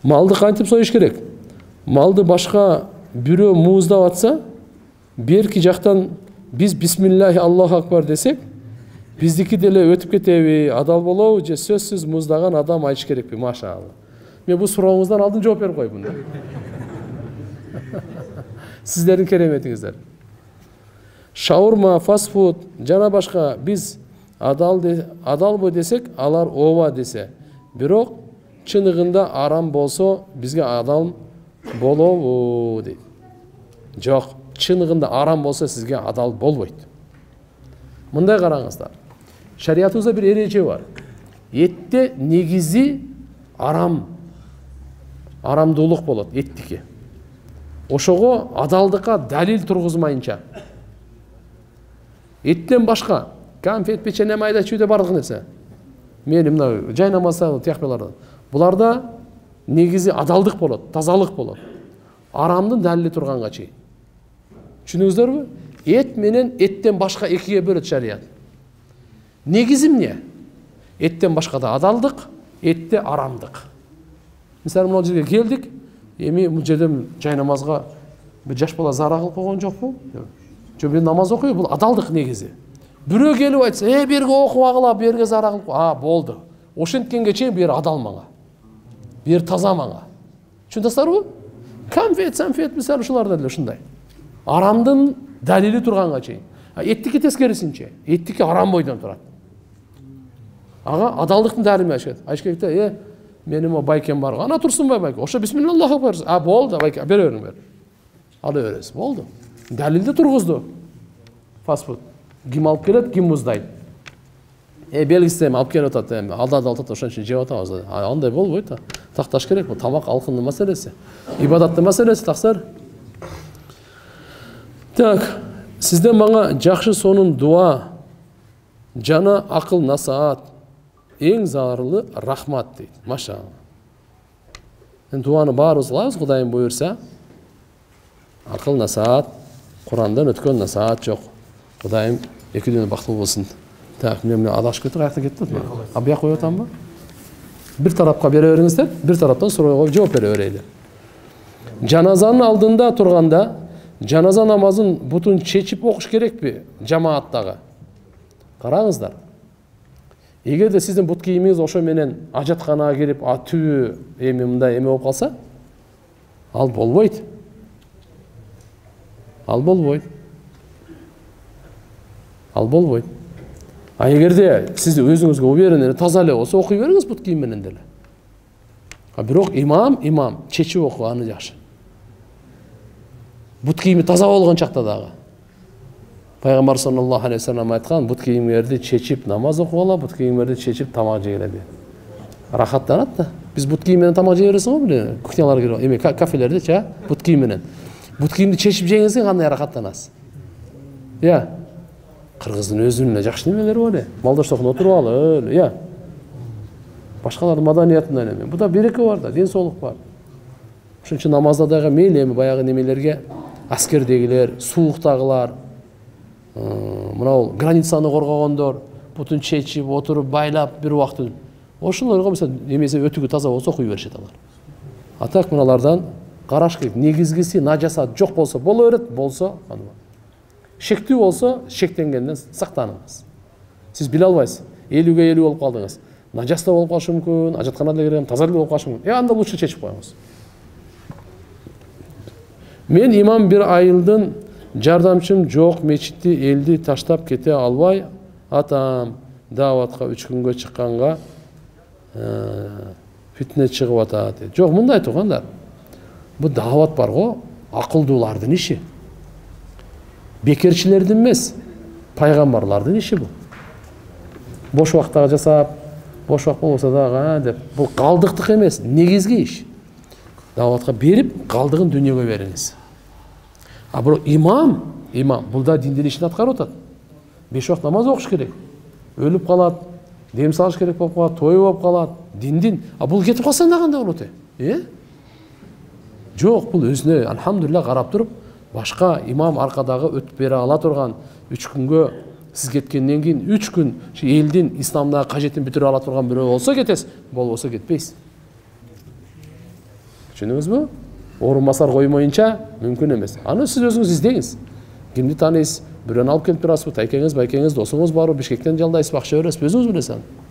Малды кантип союш керек? Малды башка бирөө мууздап атса, берки жактан биз бисмиллахи Аллаху акбар десек, биздики деле өтүп кетеби, адал болобу же сөзсүз муздаган адам айтыш керекпи? Машалла. Мен бул сурооңуздан алдын жооп берип коймун да. Сиздердин кереметиңиздер. Шаурма, фастфуд жана башка биз адалбы десек, алар ооба десе. Бирок чыныгында арам болсо бизге адал болобу дейт. Жок, чыныгында арам болсо сизге адал болбойт. Мындай караңыздар. Шариятыбызда бир эреже бар. Этте негизи арамдуулук болот, эттики. Ошого адалдыкка далил тургузмайынча. Эттен башка конфет, печенье, майда чүйдө бардык нерсе. Мен мына жай намазда тияктуулардан. Буларда негизи адалдык болот, тазалык болот. Арамдын далили турганга чейин. Түшүнүңүздөрбү? Эт менен эттен башка экиге бөлөт шарият. Негизи эмне? Эттен башка да адалдык, этте арамдык. Мисалы мына жерге келдик, эми бул жерде жай намазга бир жаш бала зара кылып койгон жокпу? Жок, мен намаз окуйм, бул адалдык негизи. Бирөө келип айтса, берге окубагыла, берге зара кылып, болду. Ошенткенге чейин бер адал мага. Бер таза мага. Түшүндүңүздөрбү? Конфет, мисалы ушуларда деле ушундай. Арамдын далили турганга чейин. Эттики тескерисинче. Эттики арам бойдон турат. Ага адалдыктын далили айыш керек да, менин байкем бар. Ана турсунбай байке. Ошо бисмиллаху акбар. Болду, байке, бере бериңер. Ала бересиз. Болду. Далилди тургузду. Фастфуд. Ким алып келет, ким муздайт. Белгиси алып келип атат, алда атат, ошон үчүн жеп атабыз. Андай болбойт да. Такташ керек, бул тамак алкындын маселеси. Ибадаттын маселеси, таксар. Так, сизден мага жакшы сонун дуа жана акыл насаат эң зарылы рахмат дейт. Машалла. Дуаны баарыбыз кылабыз, Кудайым буйрса. Акыл насаат, Курандан өткөн насаат жок. Кудайым экөөдөн бактылуу болсун. Так, мен адашып кетип каякта кеттим. Бияк коюп атамбы? Бир тарапка бере бериңиздер, бир тараптан суроого жооп бере берели. Жаназанын алдында турганда, жаназа намазын бутун чечип окуш керекпи жамааттагы? Караңыздар. Эгерде сиздин бут кийимиңиз ошо менен ажатканага кирип, түбү мындай эме болуп калса, ал болбойт. Ал болбойт. Эгерде сиз өзүңүзгө уверен таза эле болсо, окуй бериңиз бут кийим менен деле. Бирок имам чечип окуганы жакшы. Бут кийими таза болгон чакта дагы. Пайгамбар саллаллаху алейхи вассалам айткан, бут кийимдерди чечип намаз окугула, бут кийимдерди чечип тамак жегиле дейт. Рахаттанат да. Биз бут кийим менен тамак жей бересиң го, биле, кухняларга кирип, кафелерде, бут кийим менен. Бут кийимди чечип жеңизге кандай рахаттанасыз? Кыргыздын өзүнүн жакшы немелери бар эле. Малдаштыкта отуруп алып, башкалардын маданиятынан эме. Буда береке бар да, ден соолук бар. Ошон үчүн намазда дагы мейли эми баягы немелерге аскердегилер, сууктагылар, мына границаны коргогондор, бутун чечип, отуруп, байлап бир убакыт. Ошолорго мисалы немесе өтүгү таза болсо окуй беришет алар. Так мыналардан караш керек. Негизгиси нажасат жок болсо боло берет, болсо шектүү болсо шектенгенден сактаныңыз. Сиз биле албайсыз. 50-ге 50 болуп калдыңыз. Нажаста болуп калышы мүмкүн, ажатканада кирем, таза болуп калышы мүмкүн. Анда лучше чечип коюңуз. Мен имам бир айылдын жардамчым жок, мечитти элди таштап кете албай атам. Дааватка 3 күнгө чыкканга фитне чыгып атат. Жок, мындай тугандар. Бу даават бар го, акылдуулардын иши. Бекерчилердин эмес, пайгамбарлардын иши бул. Бош убактагы жасап, бош убакт болбосо дагы деп, бул калдыктык эмес, негизги иш. Дааватка берип, калдыгын дүйнөгө бериңиз. Бирок имам бул да диндин ишин аткарып атат. 5 убакт намаз окуш керек. Өлүп калат, дем салыш керек болуп калат, той болуп калат, диндин. Бул кетип калса кандай болот? Жок, бул өзүнө алхамдулилlah карап туруп, башка имам аркадагы өтүп бере ала турган 3 күнгө сиз кеткенден кийин 3 күн элдин исламдагы кажетин бүтүрө ала турган бирөө болсо кетесиз, болбосо кетпейсиз. Түшүндүңүзбү? Орун басар коймоюнча мүмкүн эмес. Аны сиз өзүңүз издеңиз. Кимди тааныйсыз? Бирөөнү алып келип турасызбы? Тайкеңиз, байкеңиз, досуңуз барбы? Бишкектен жалдайсызбы? Акча бересизби? Өзүңүз билесиз аны.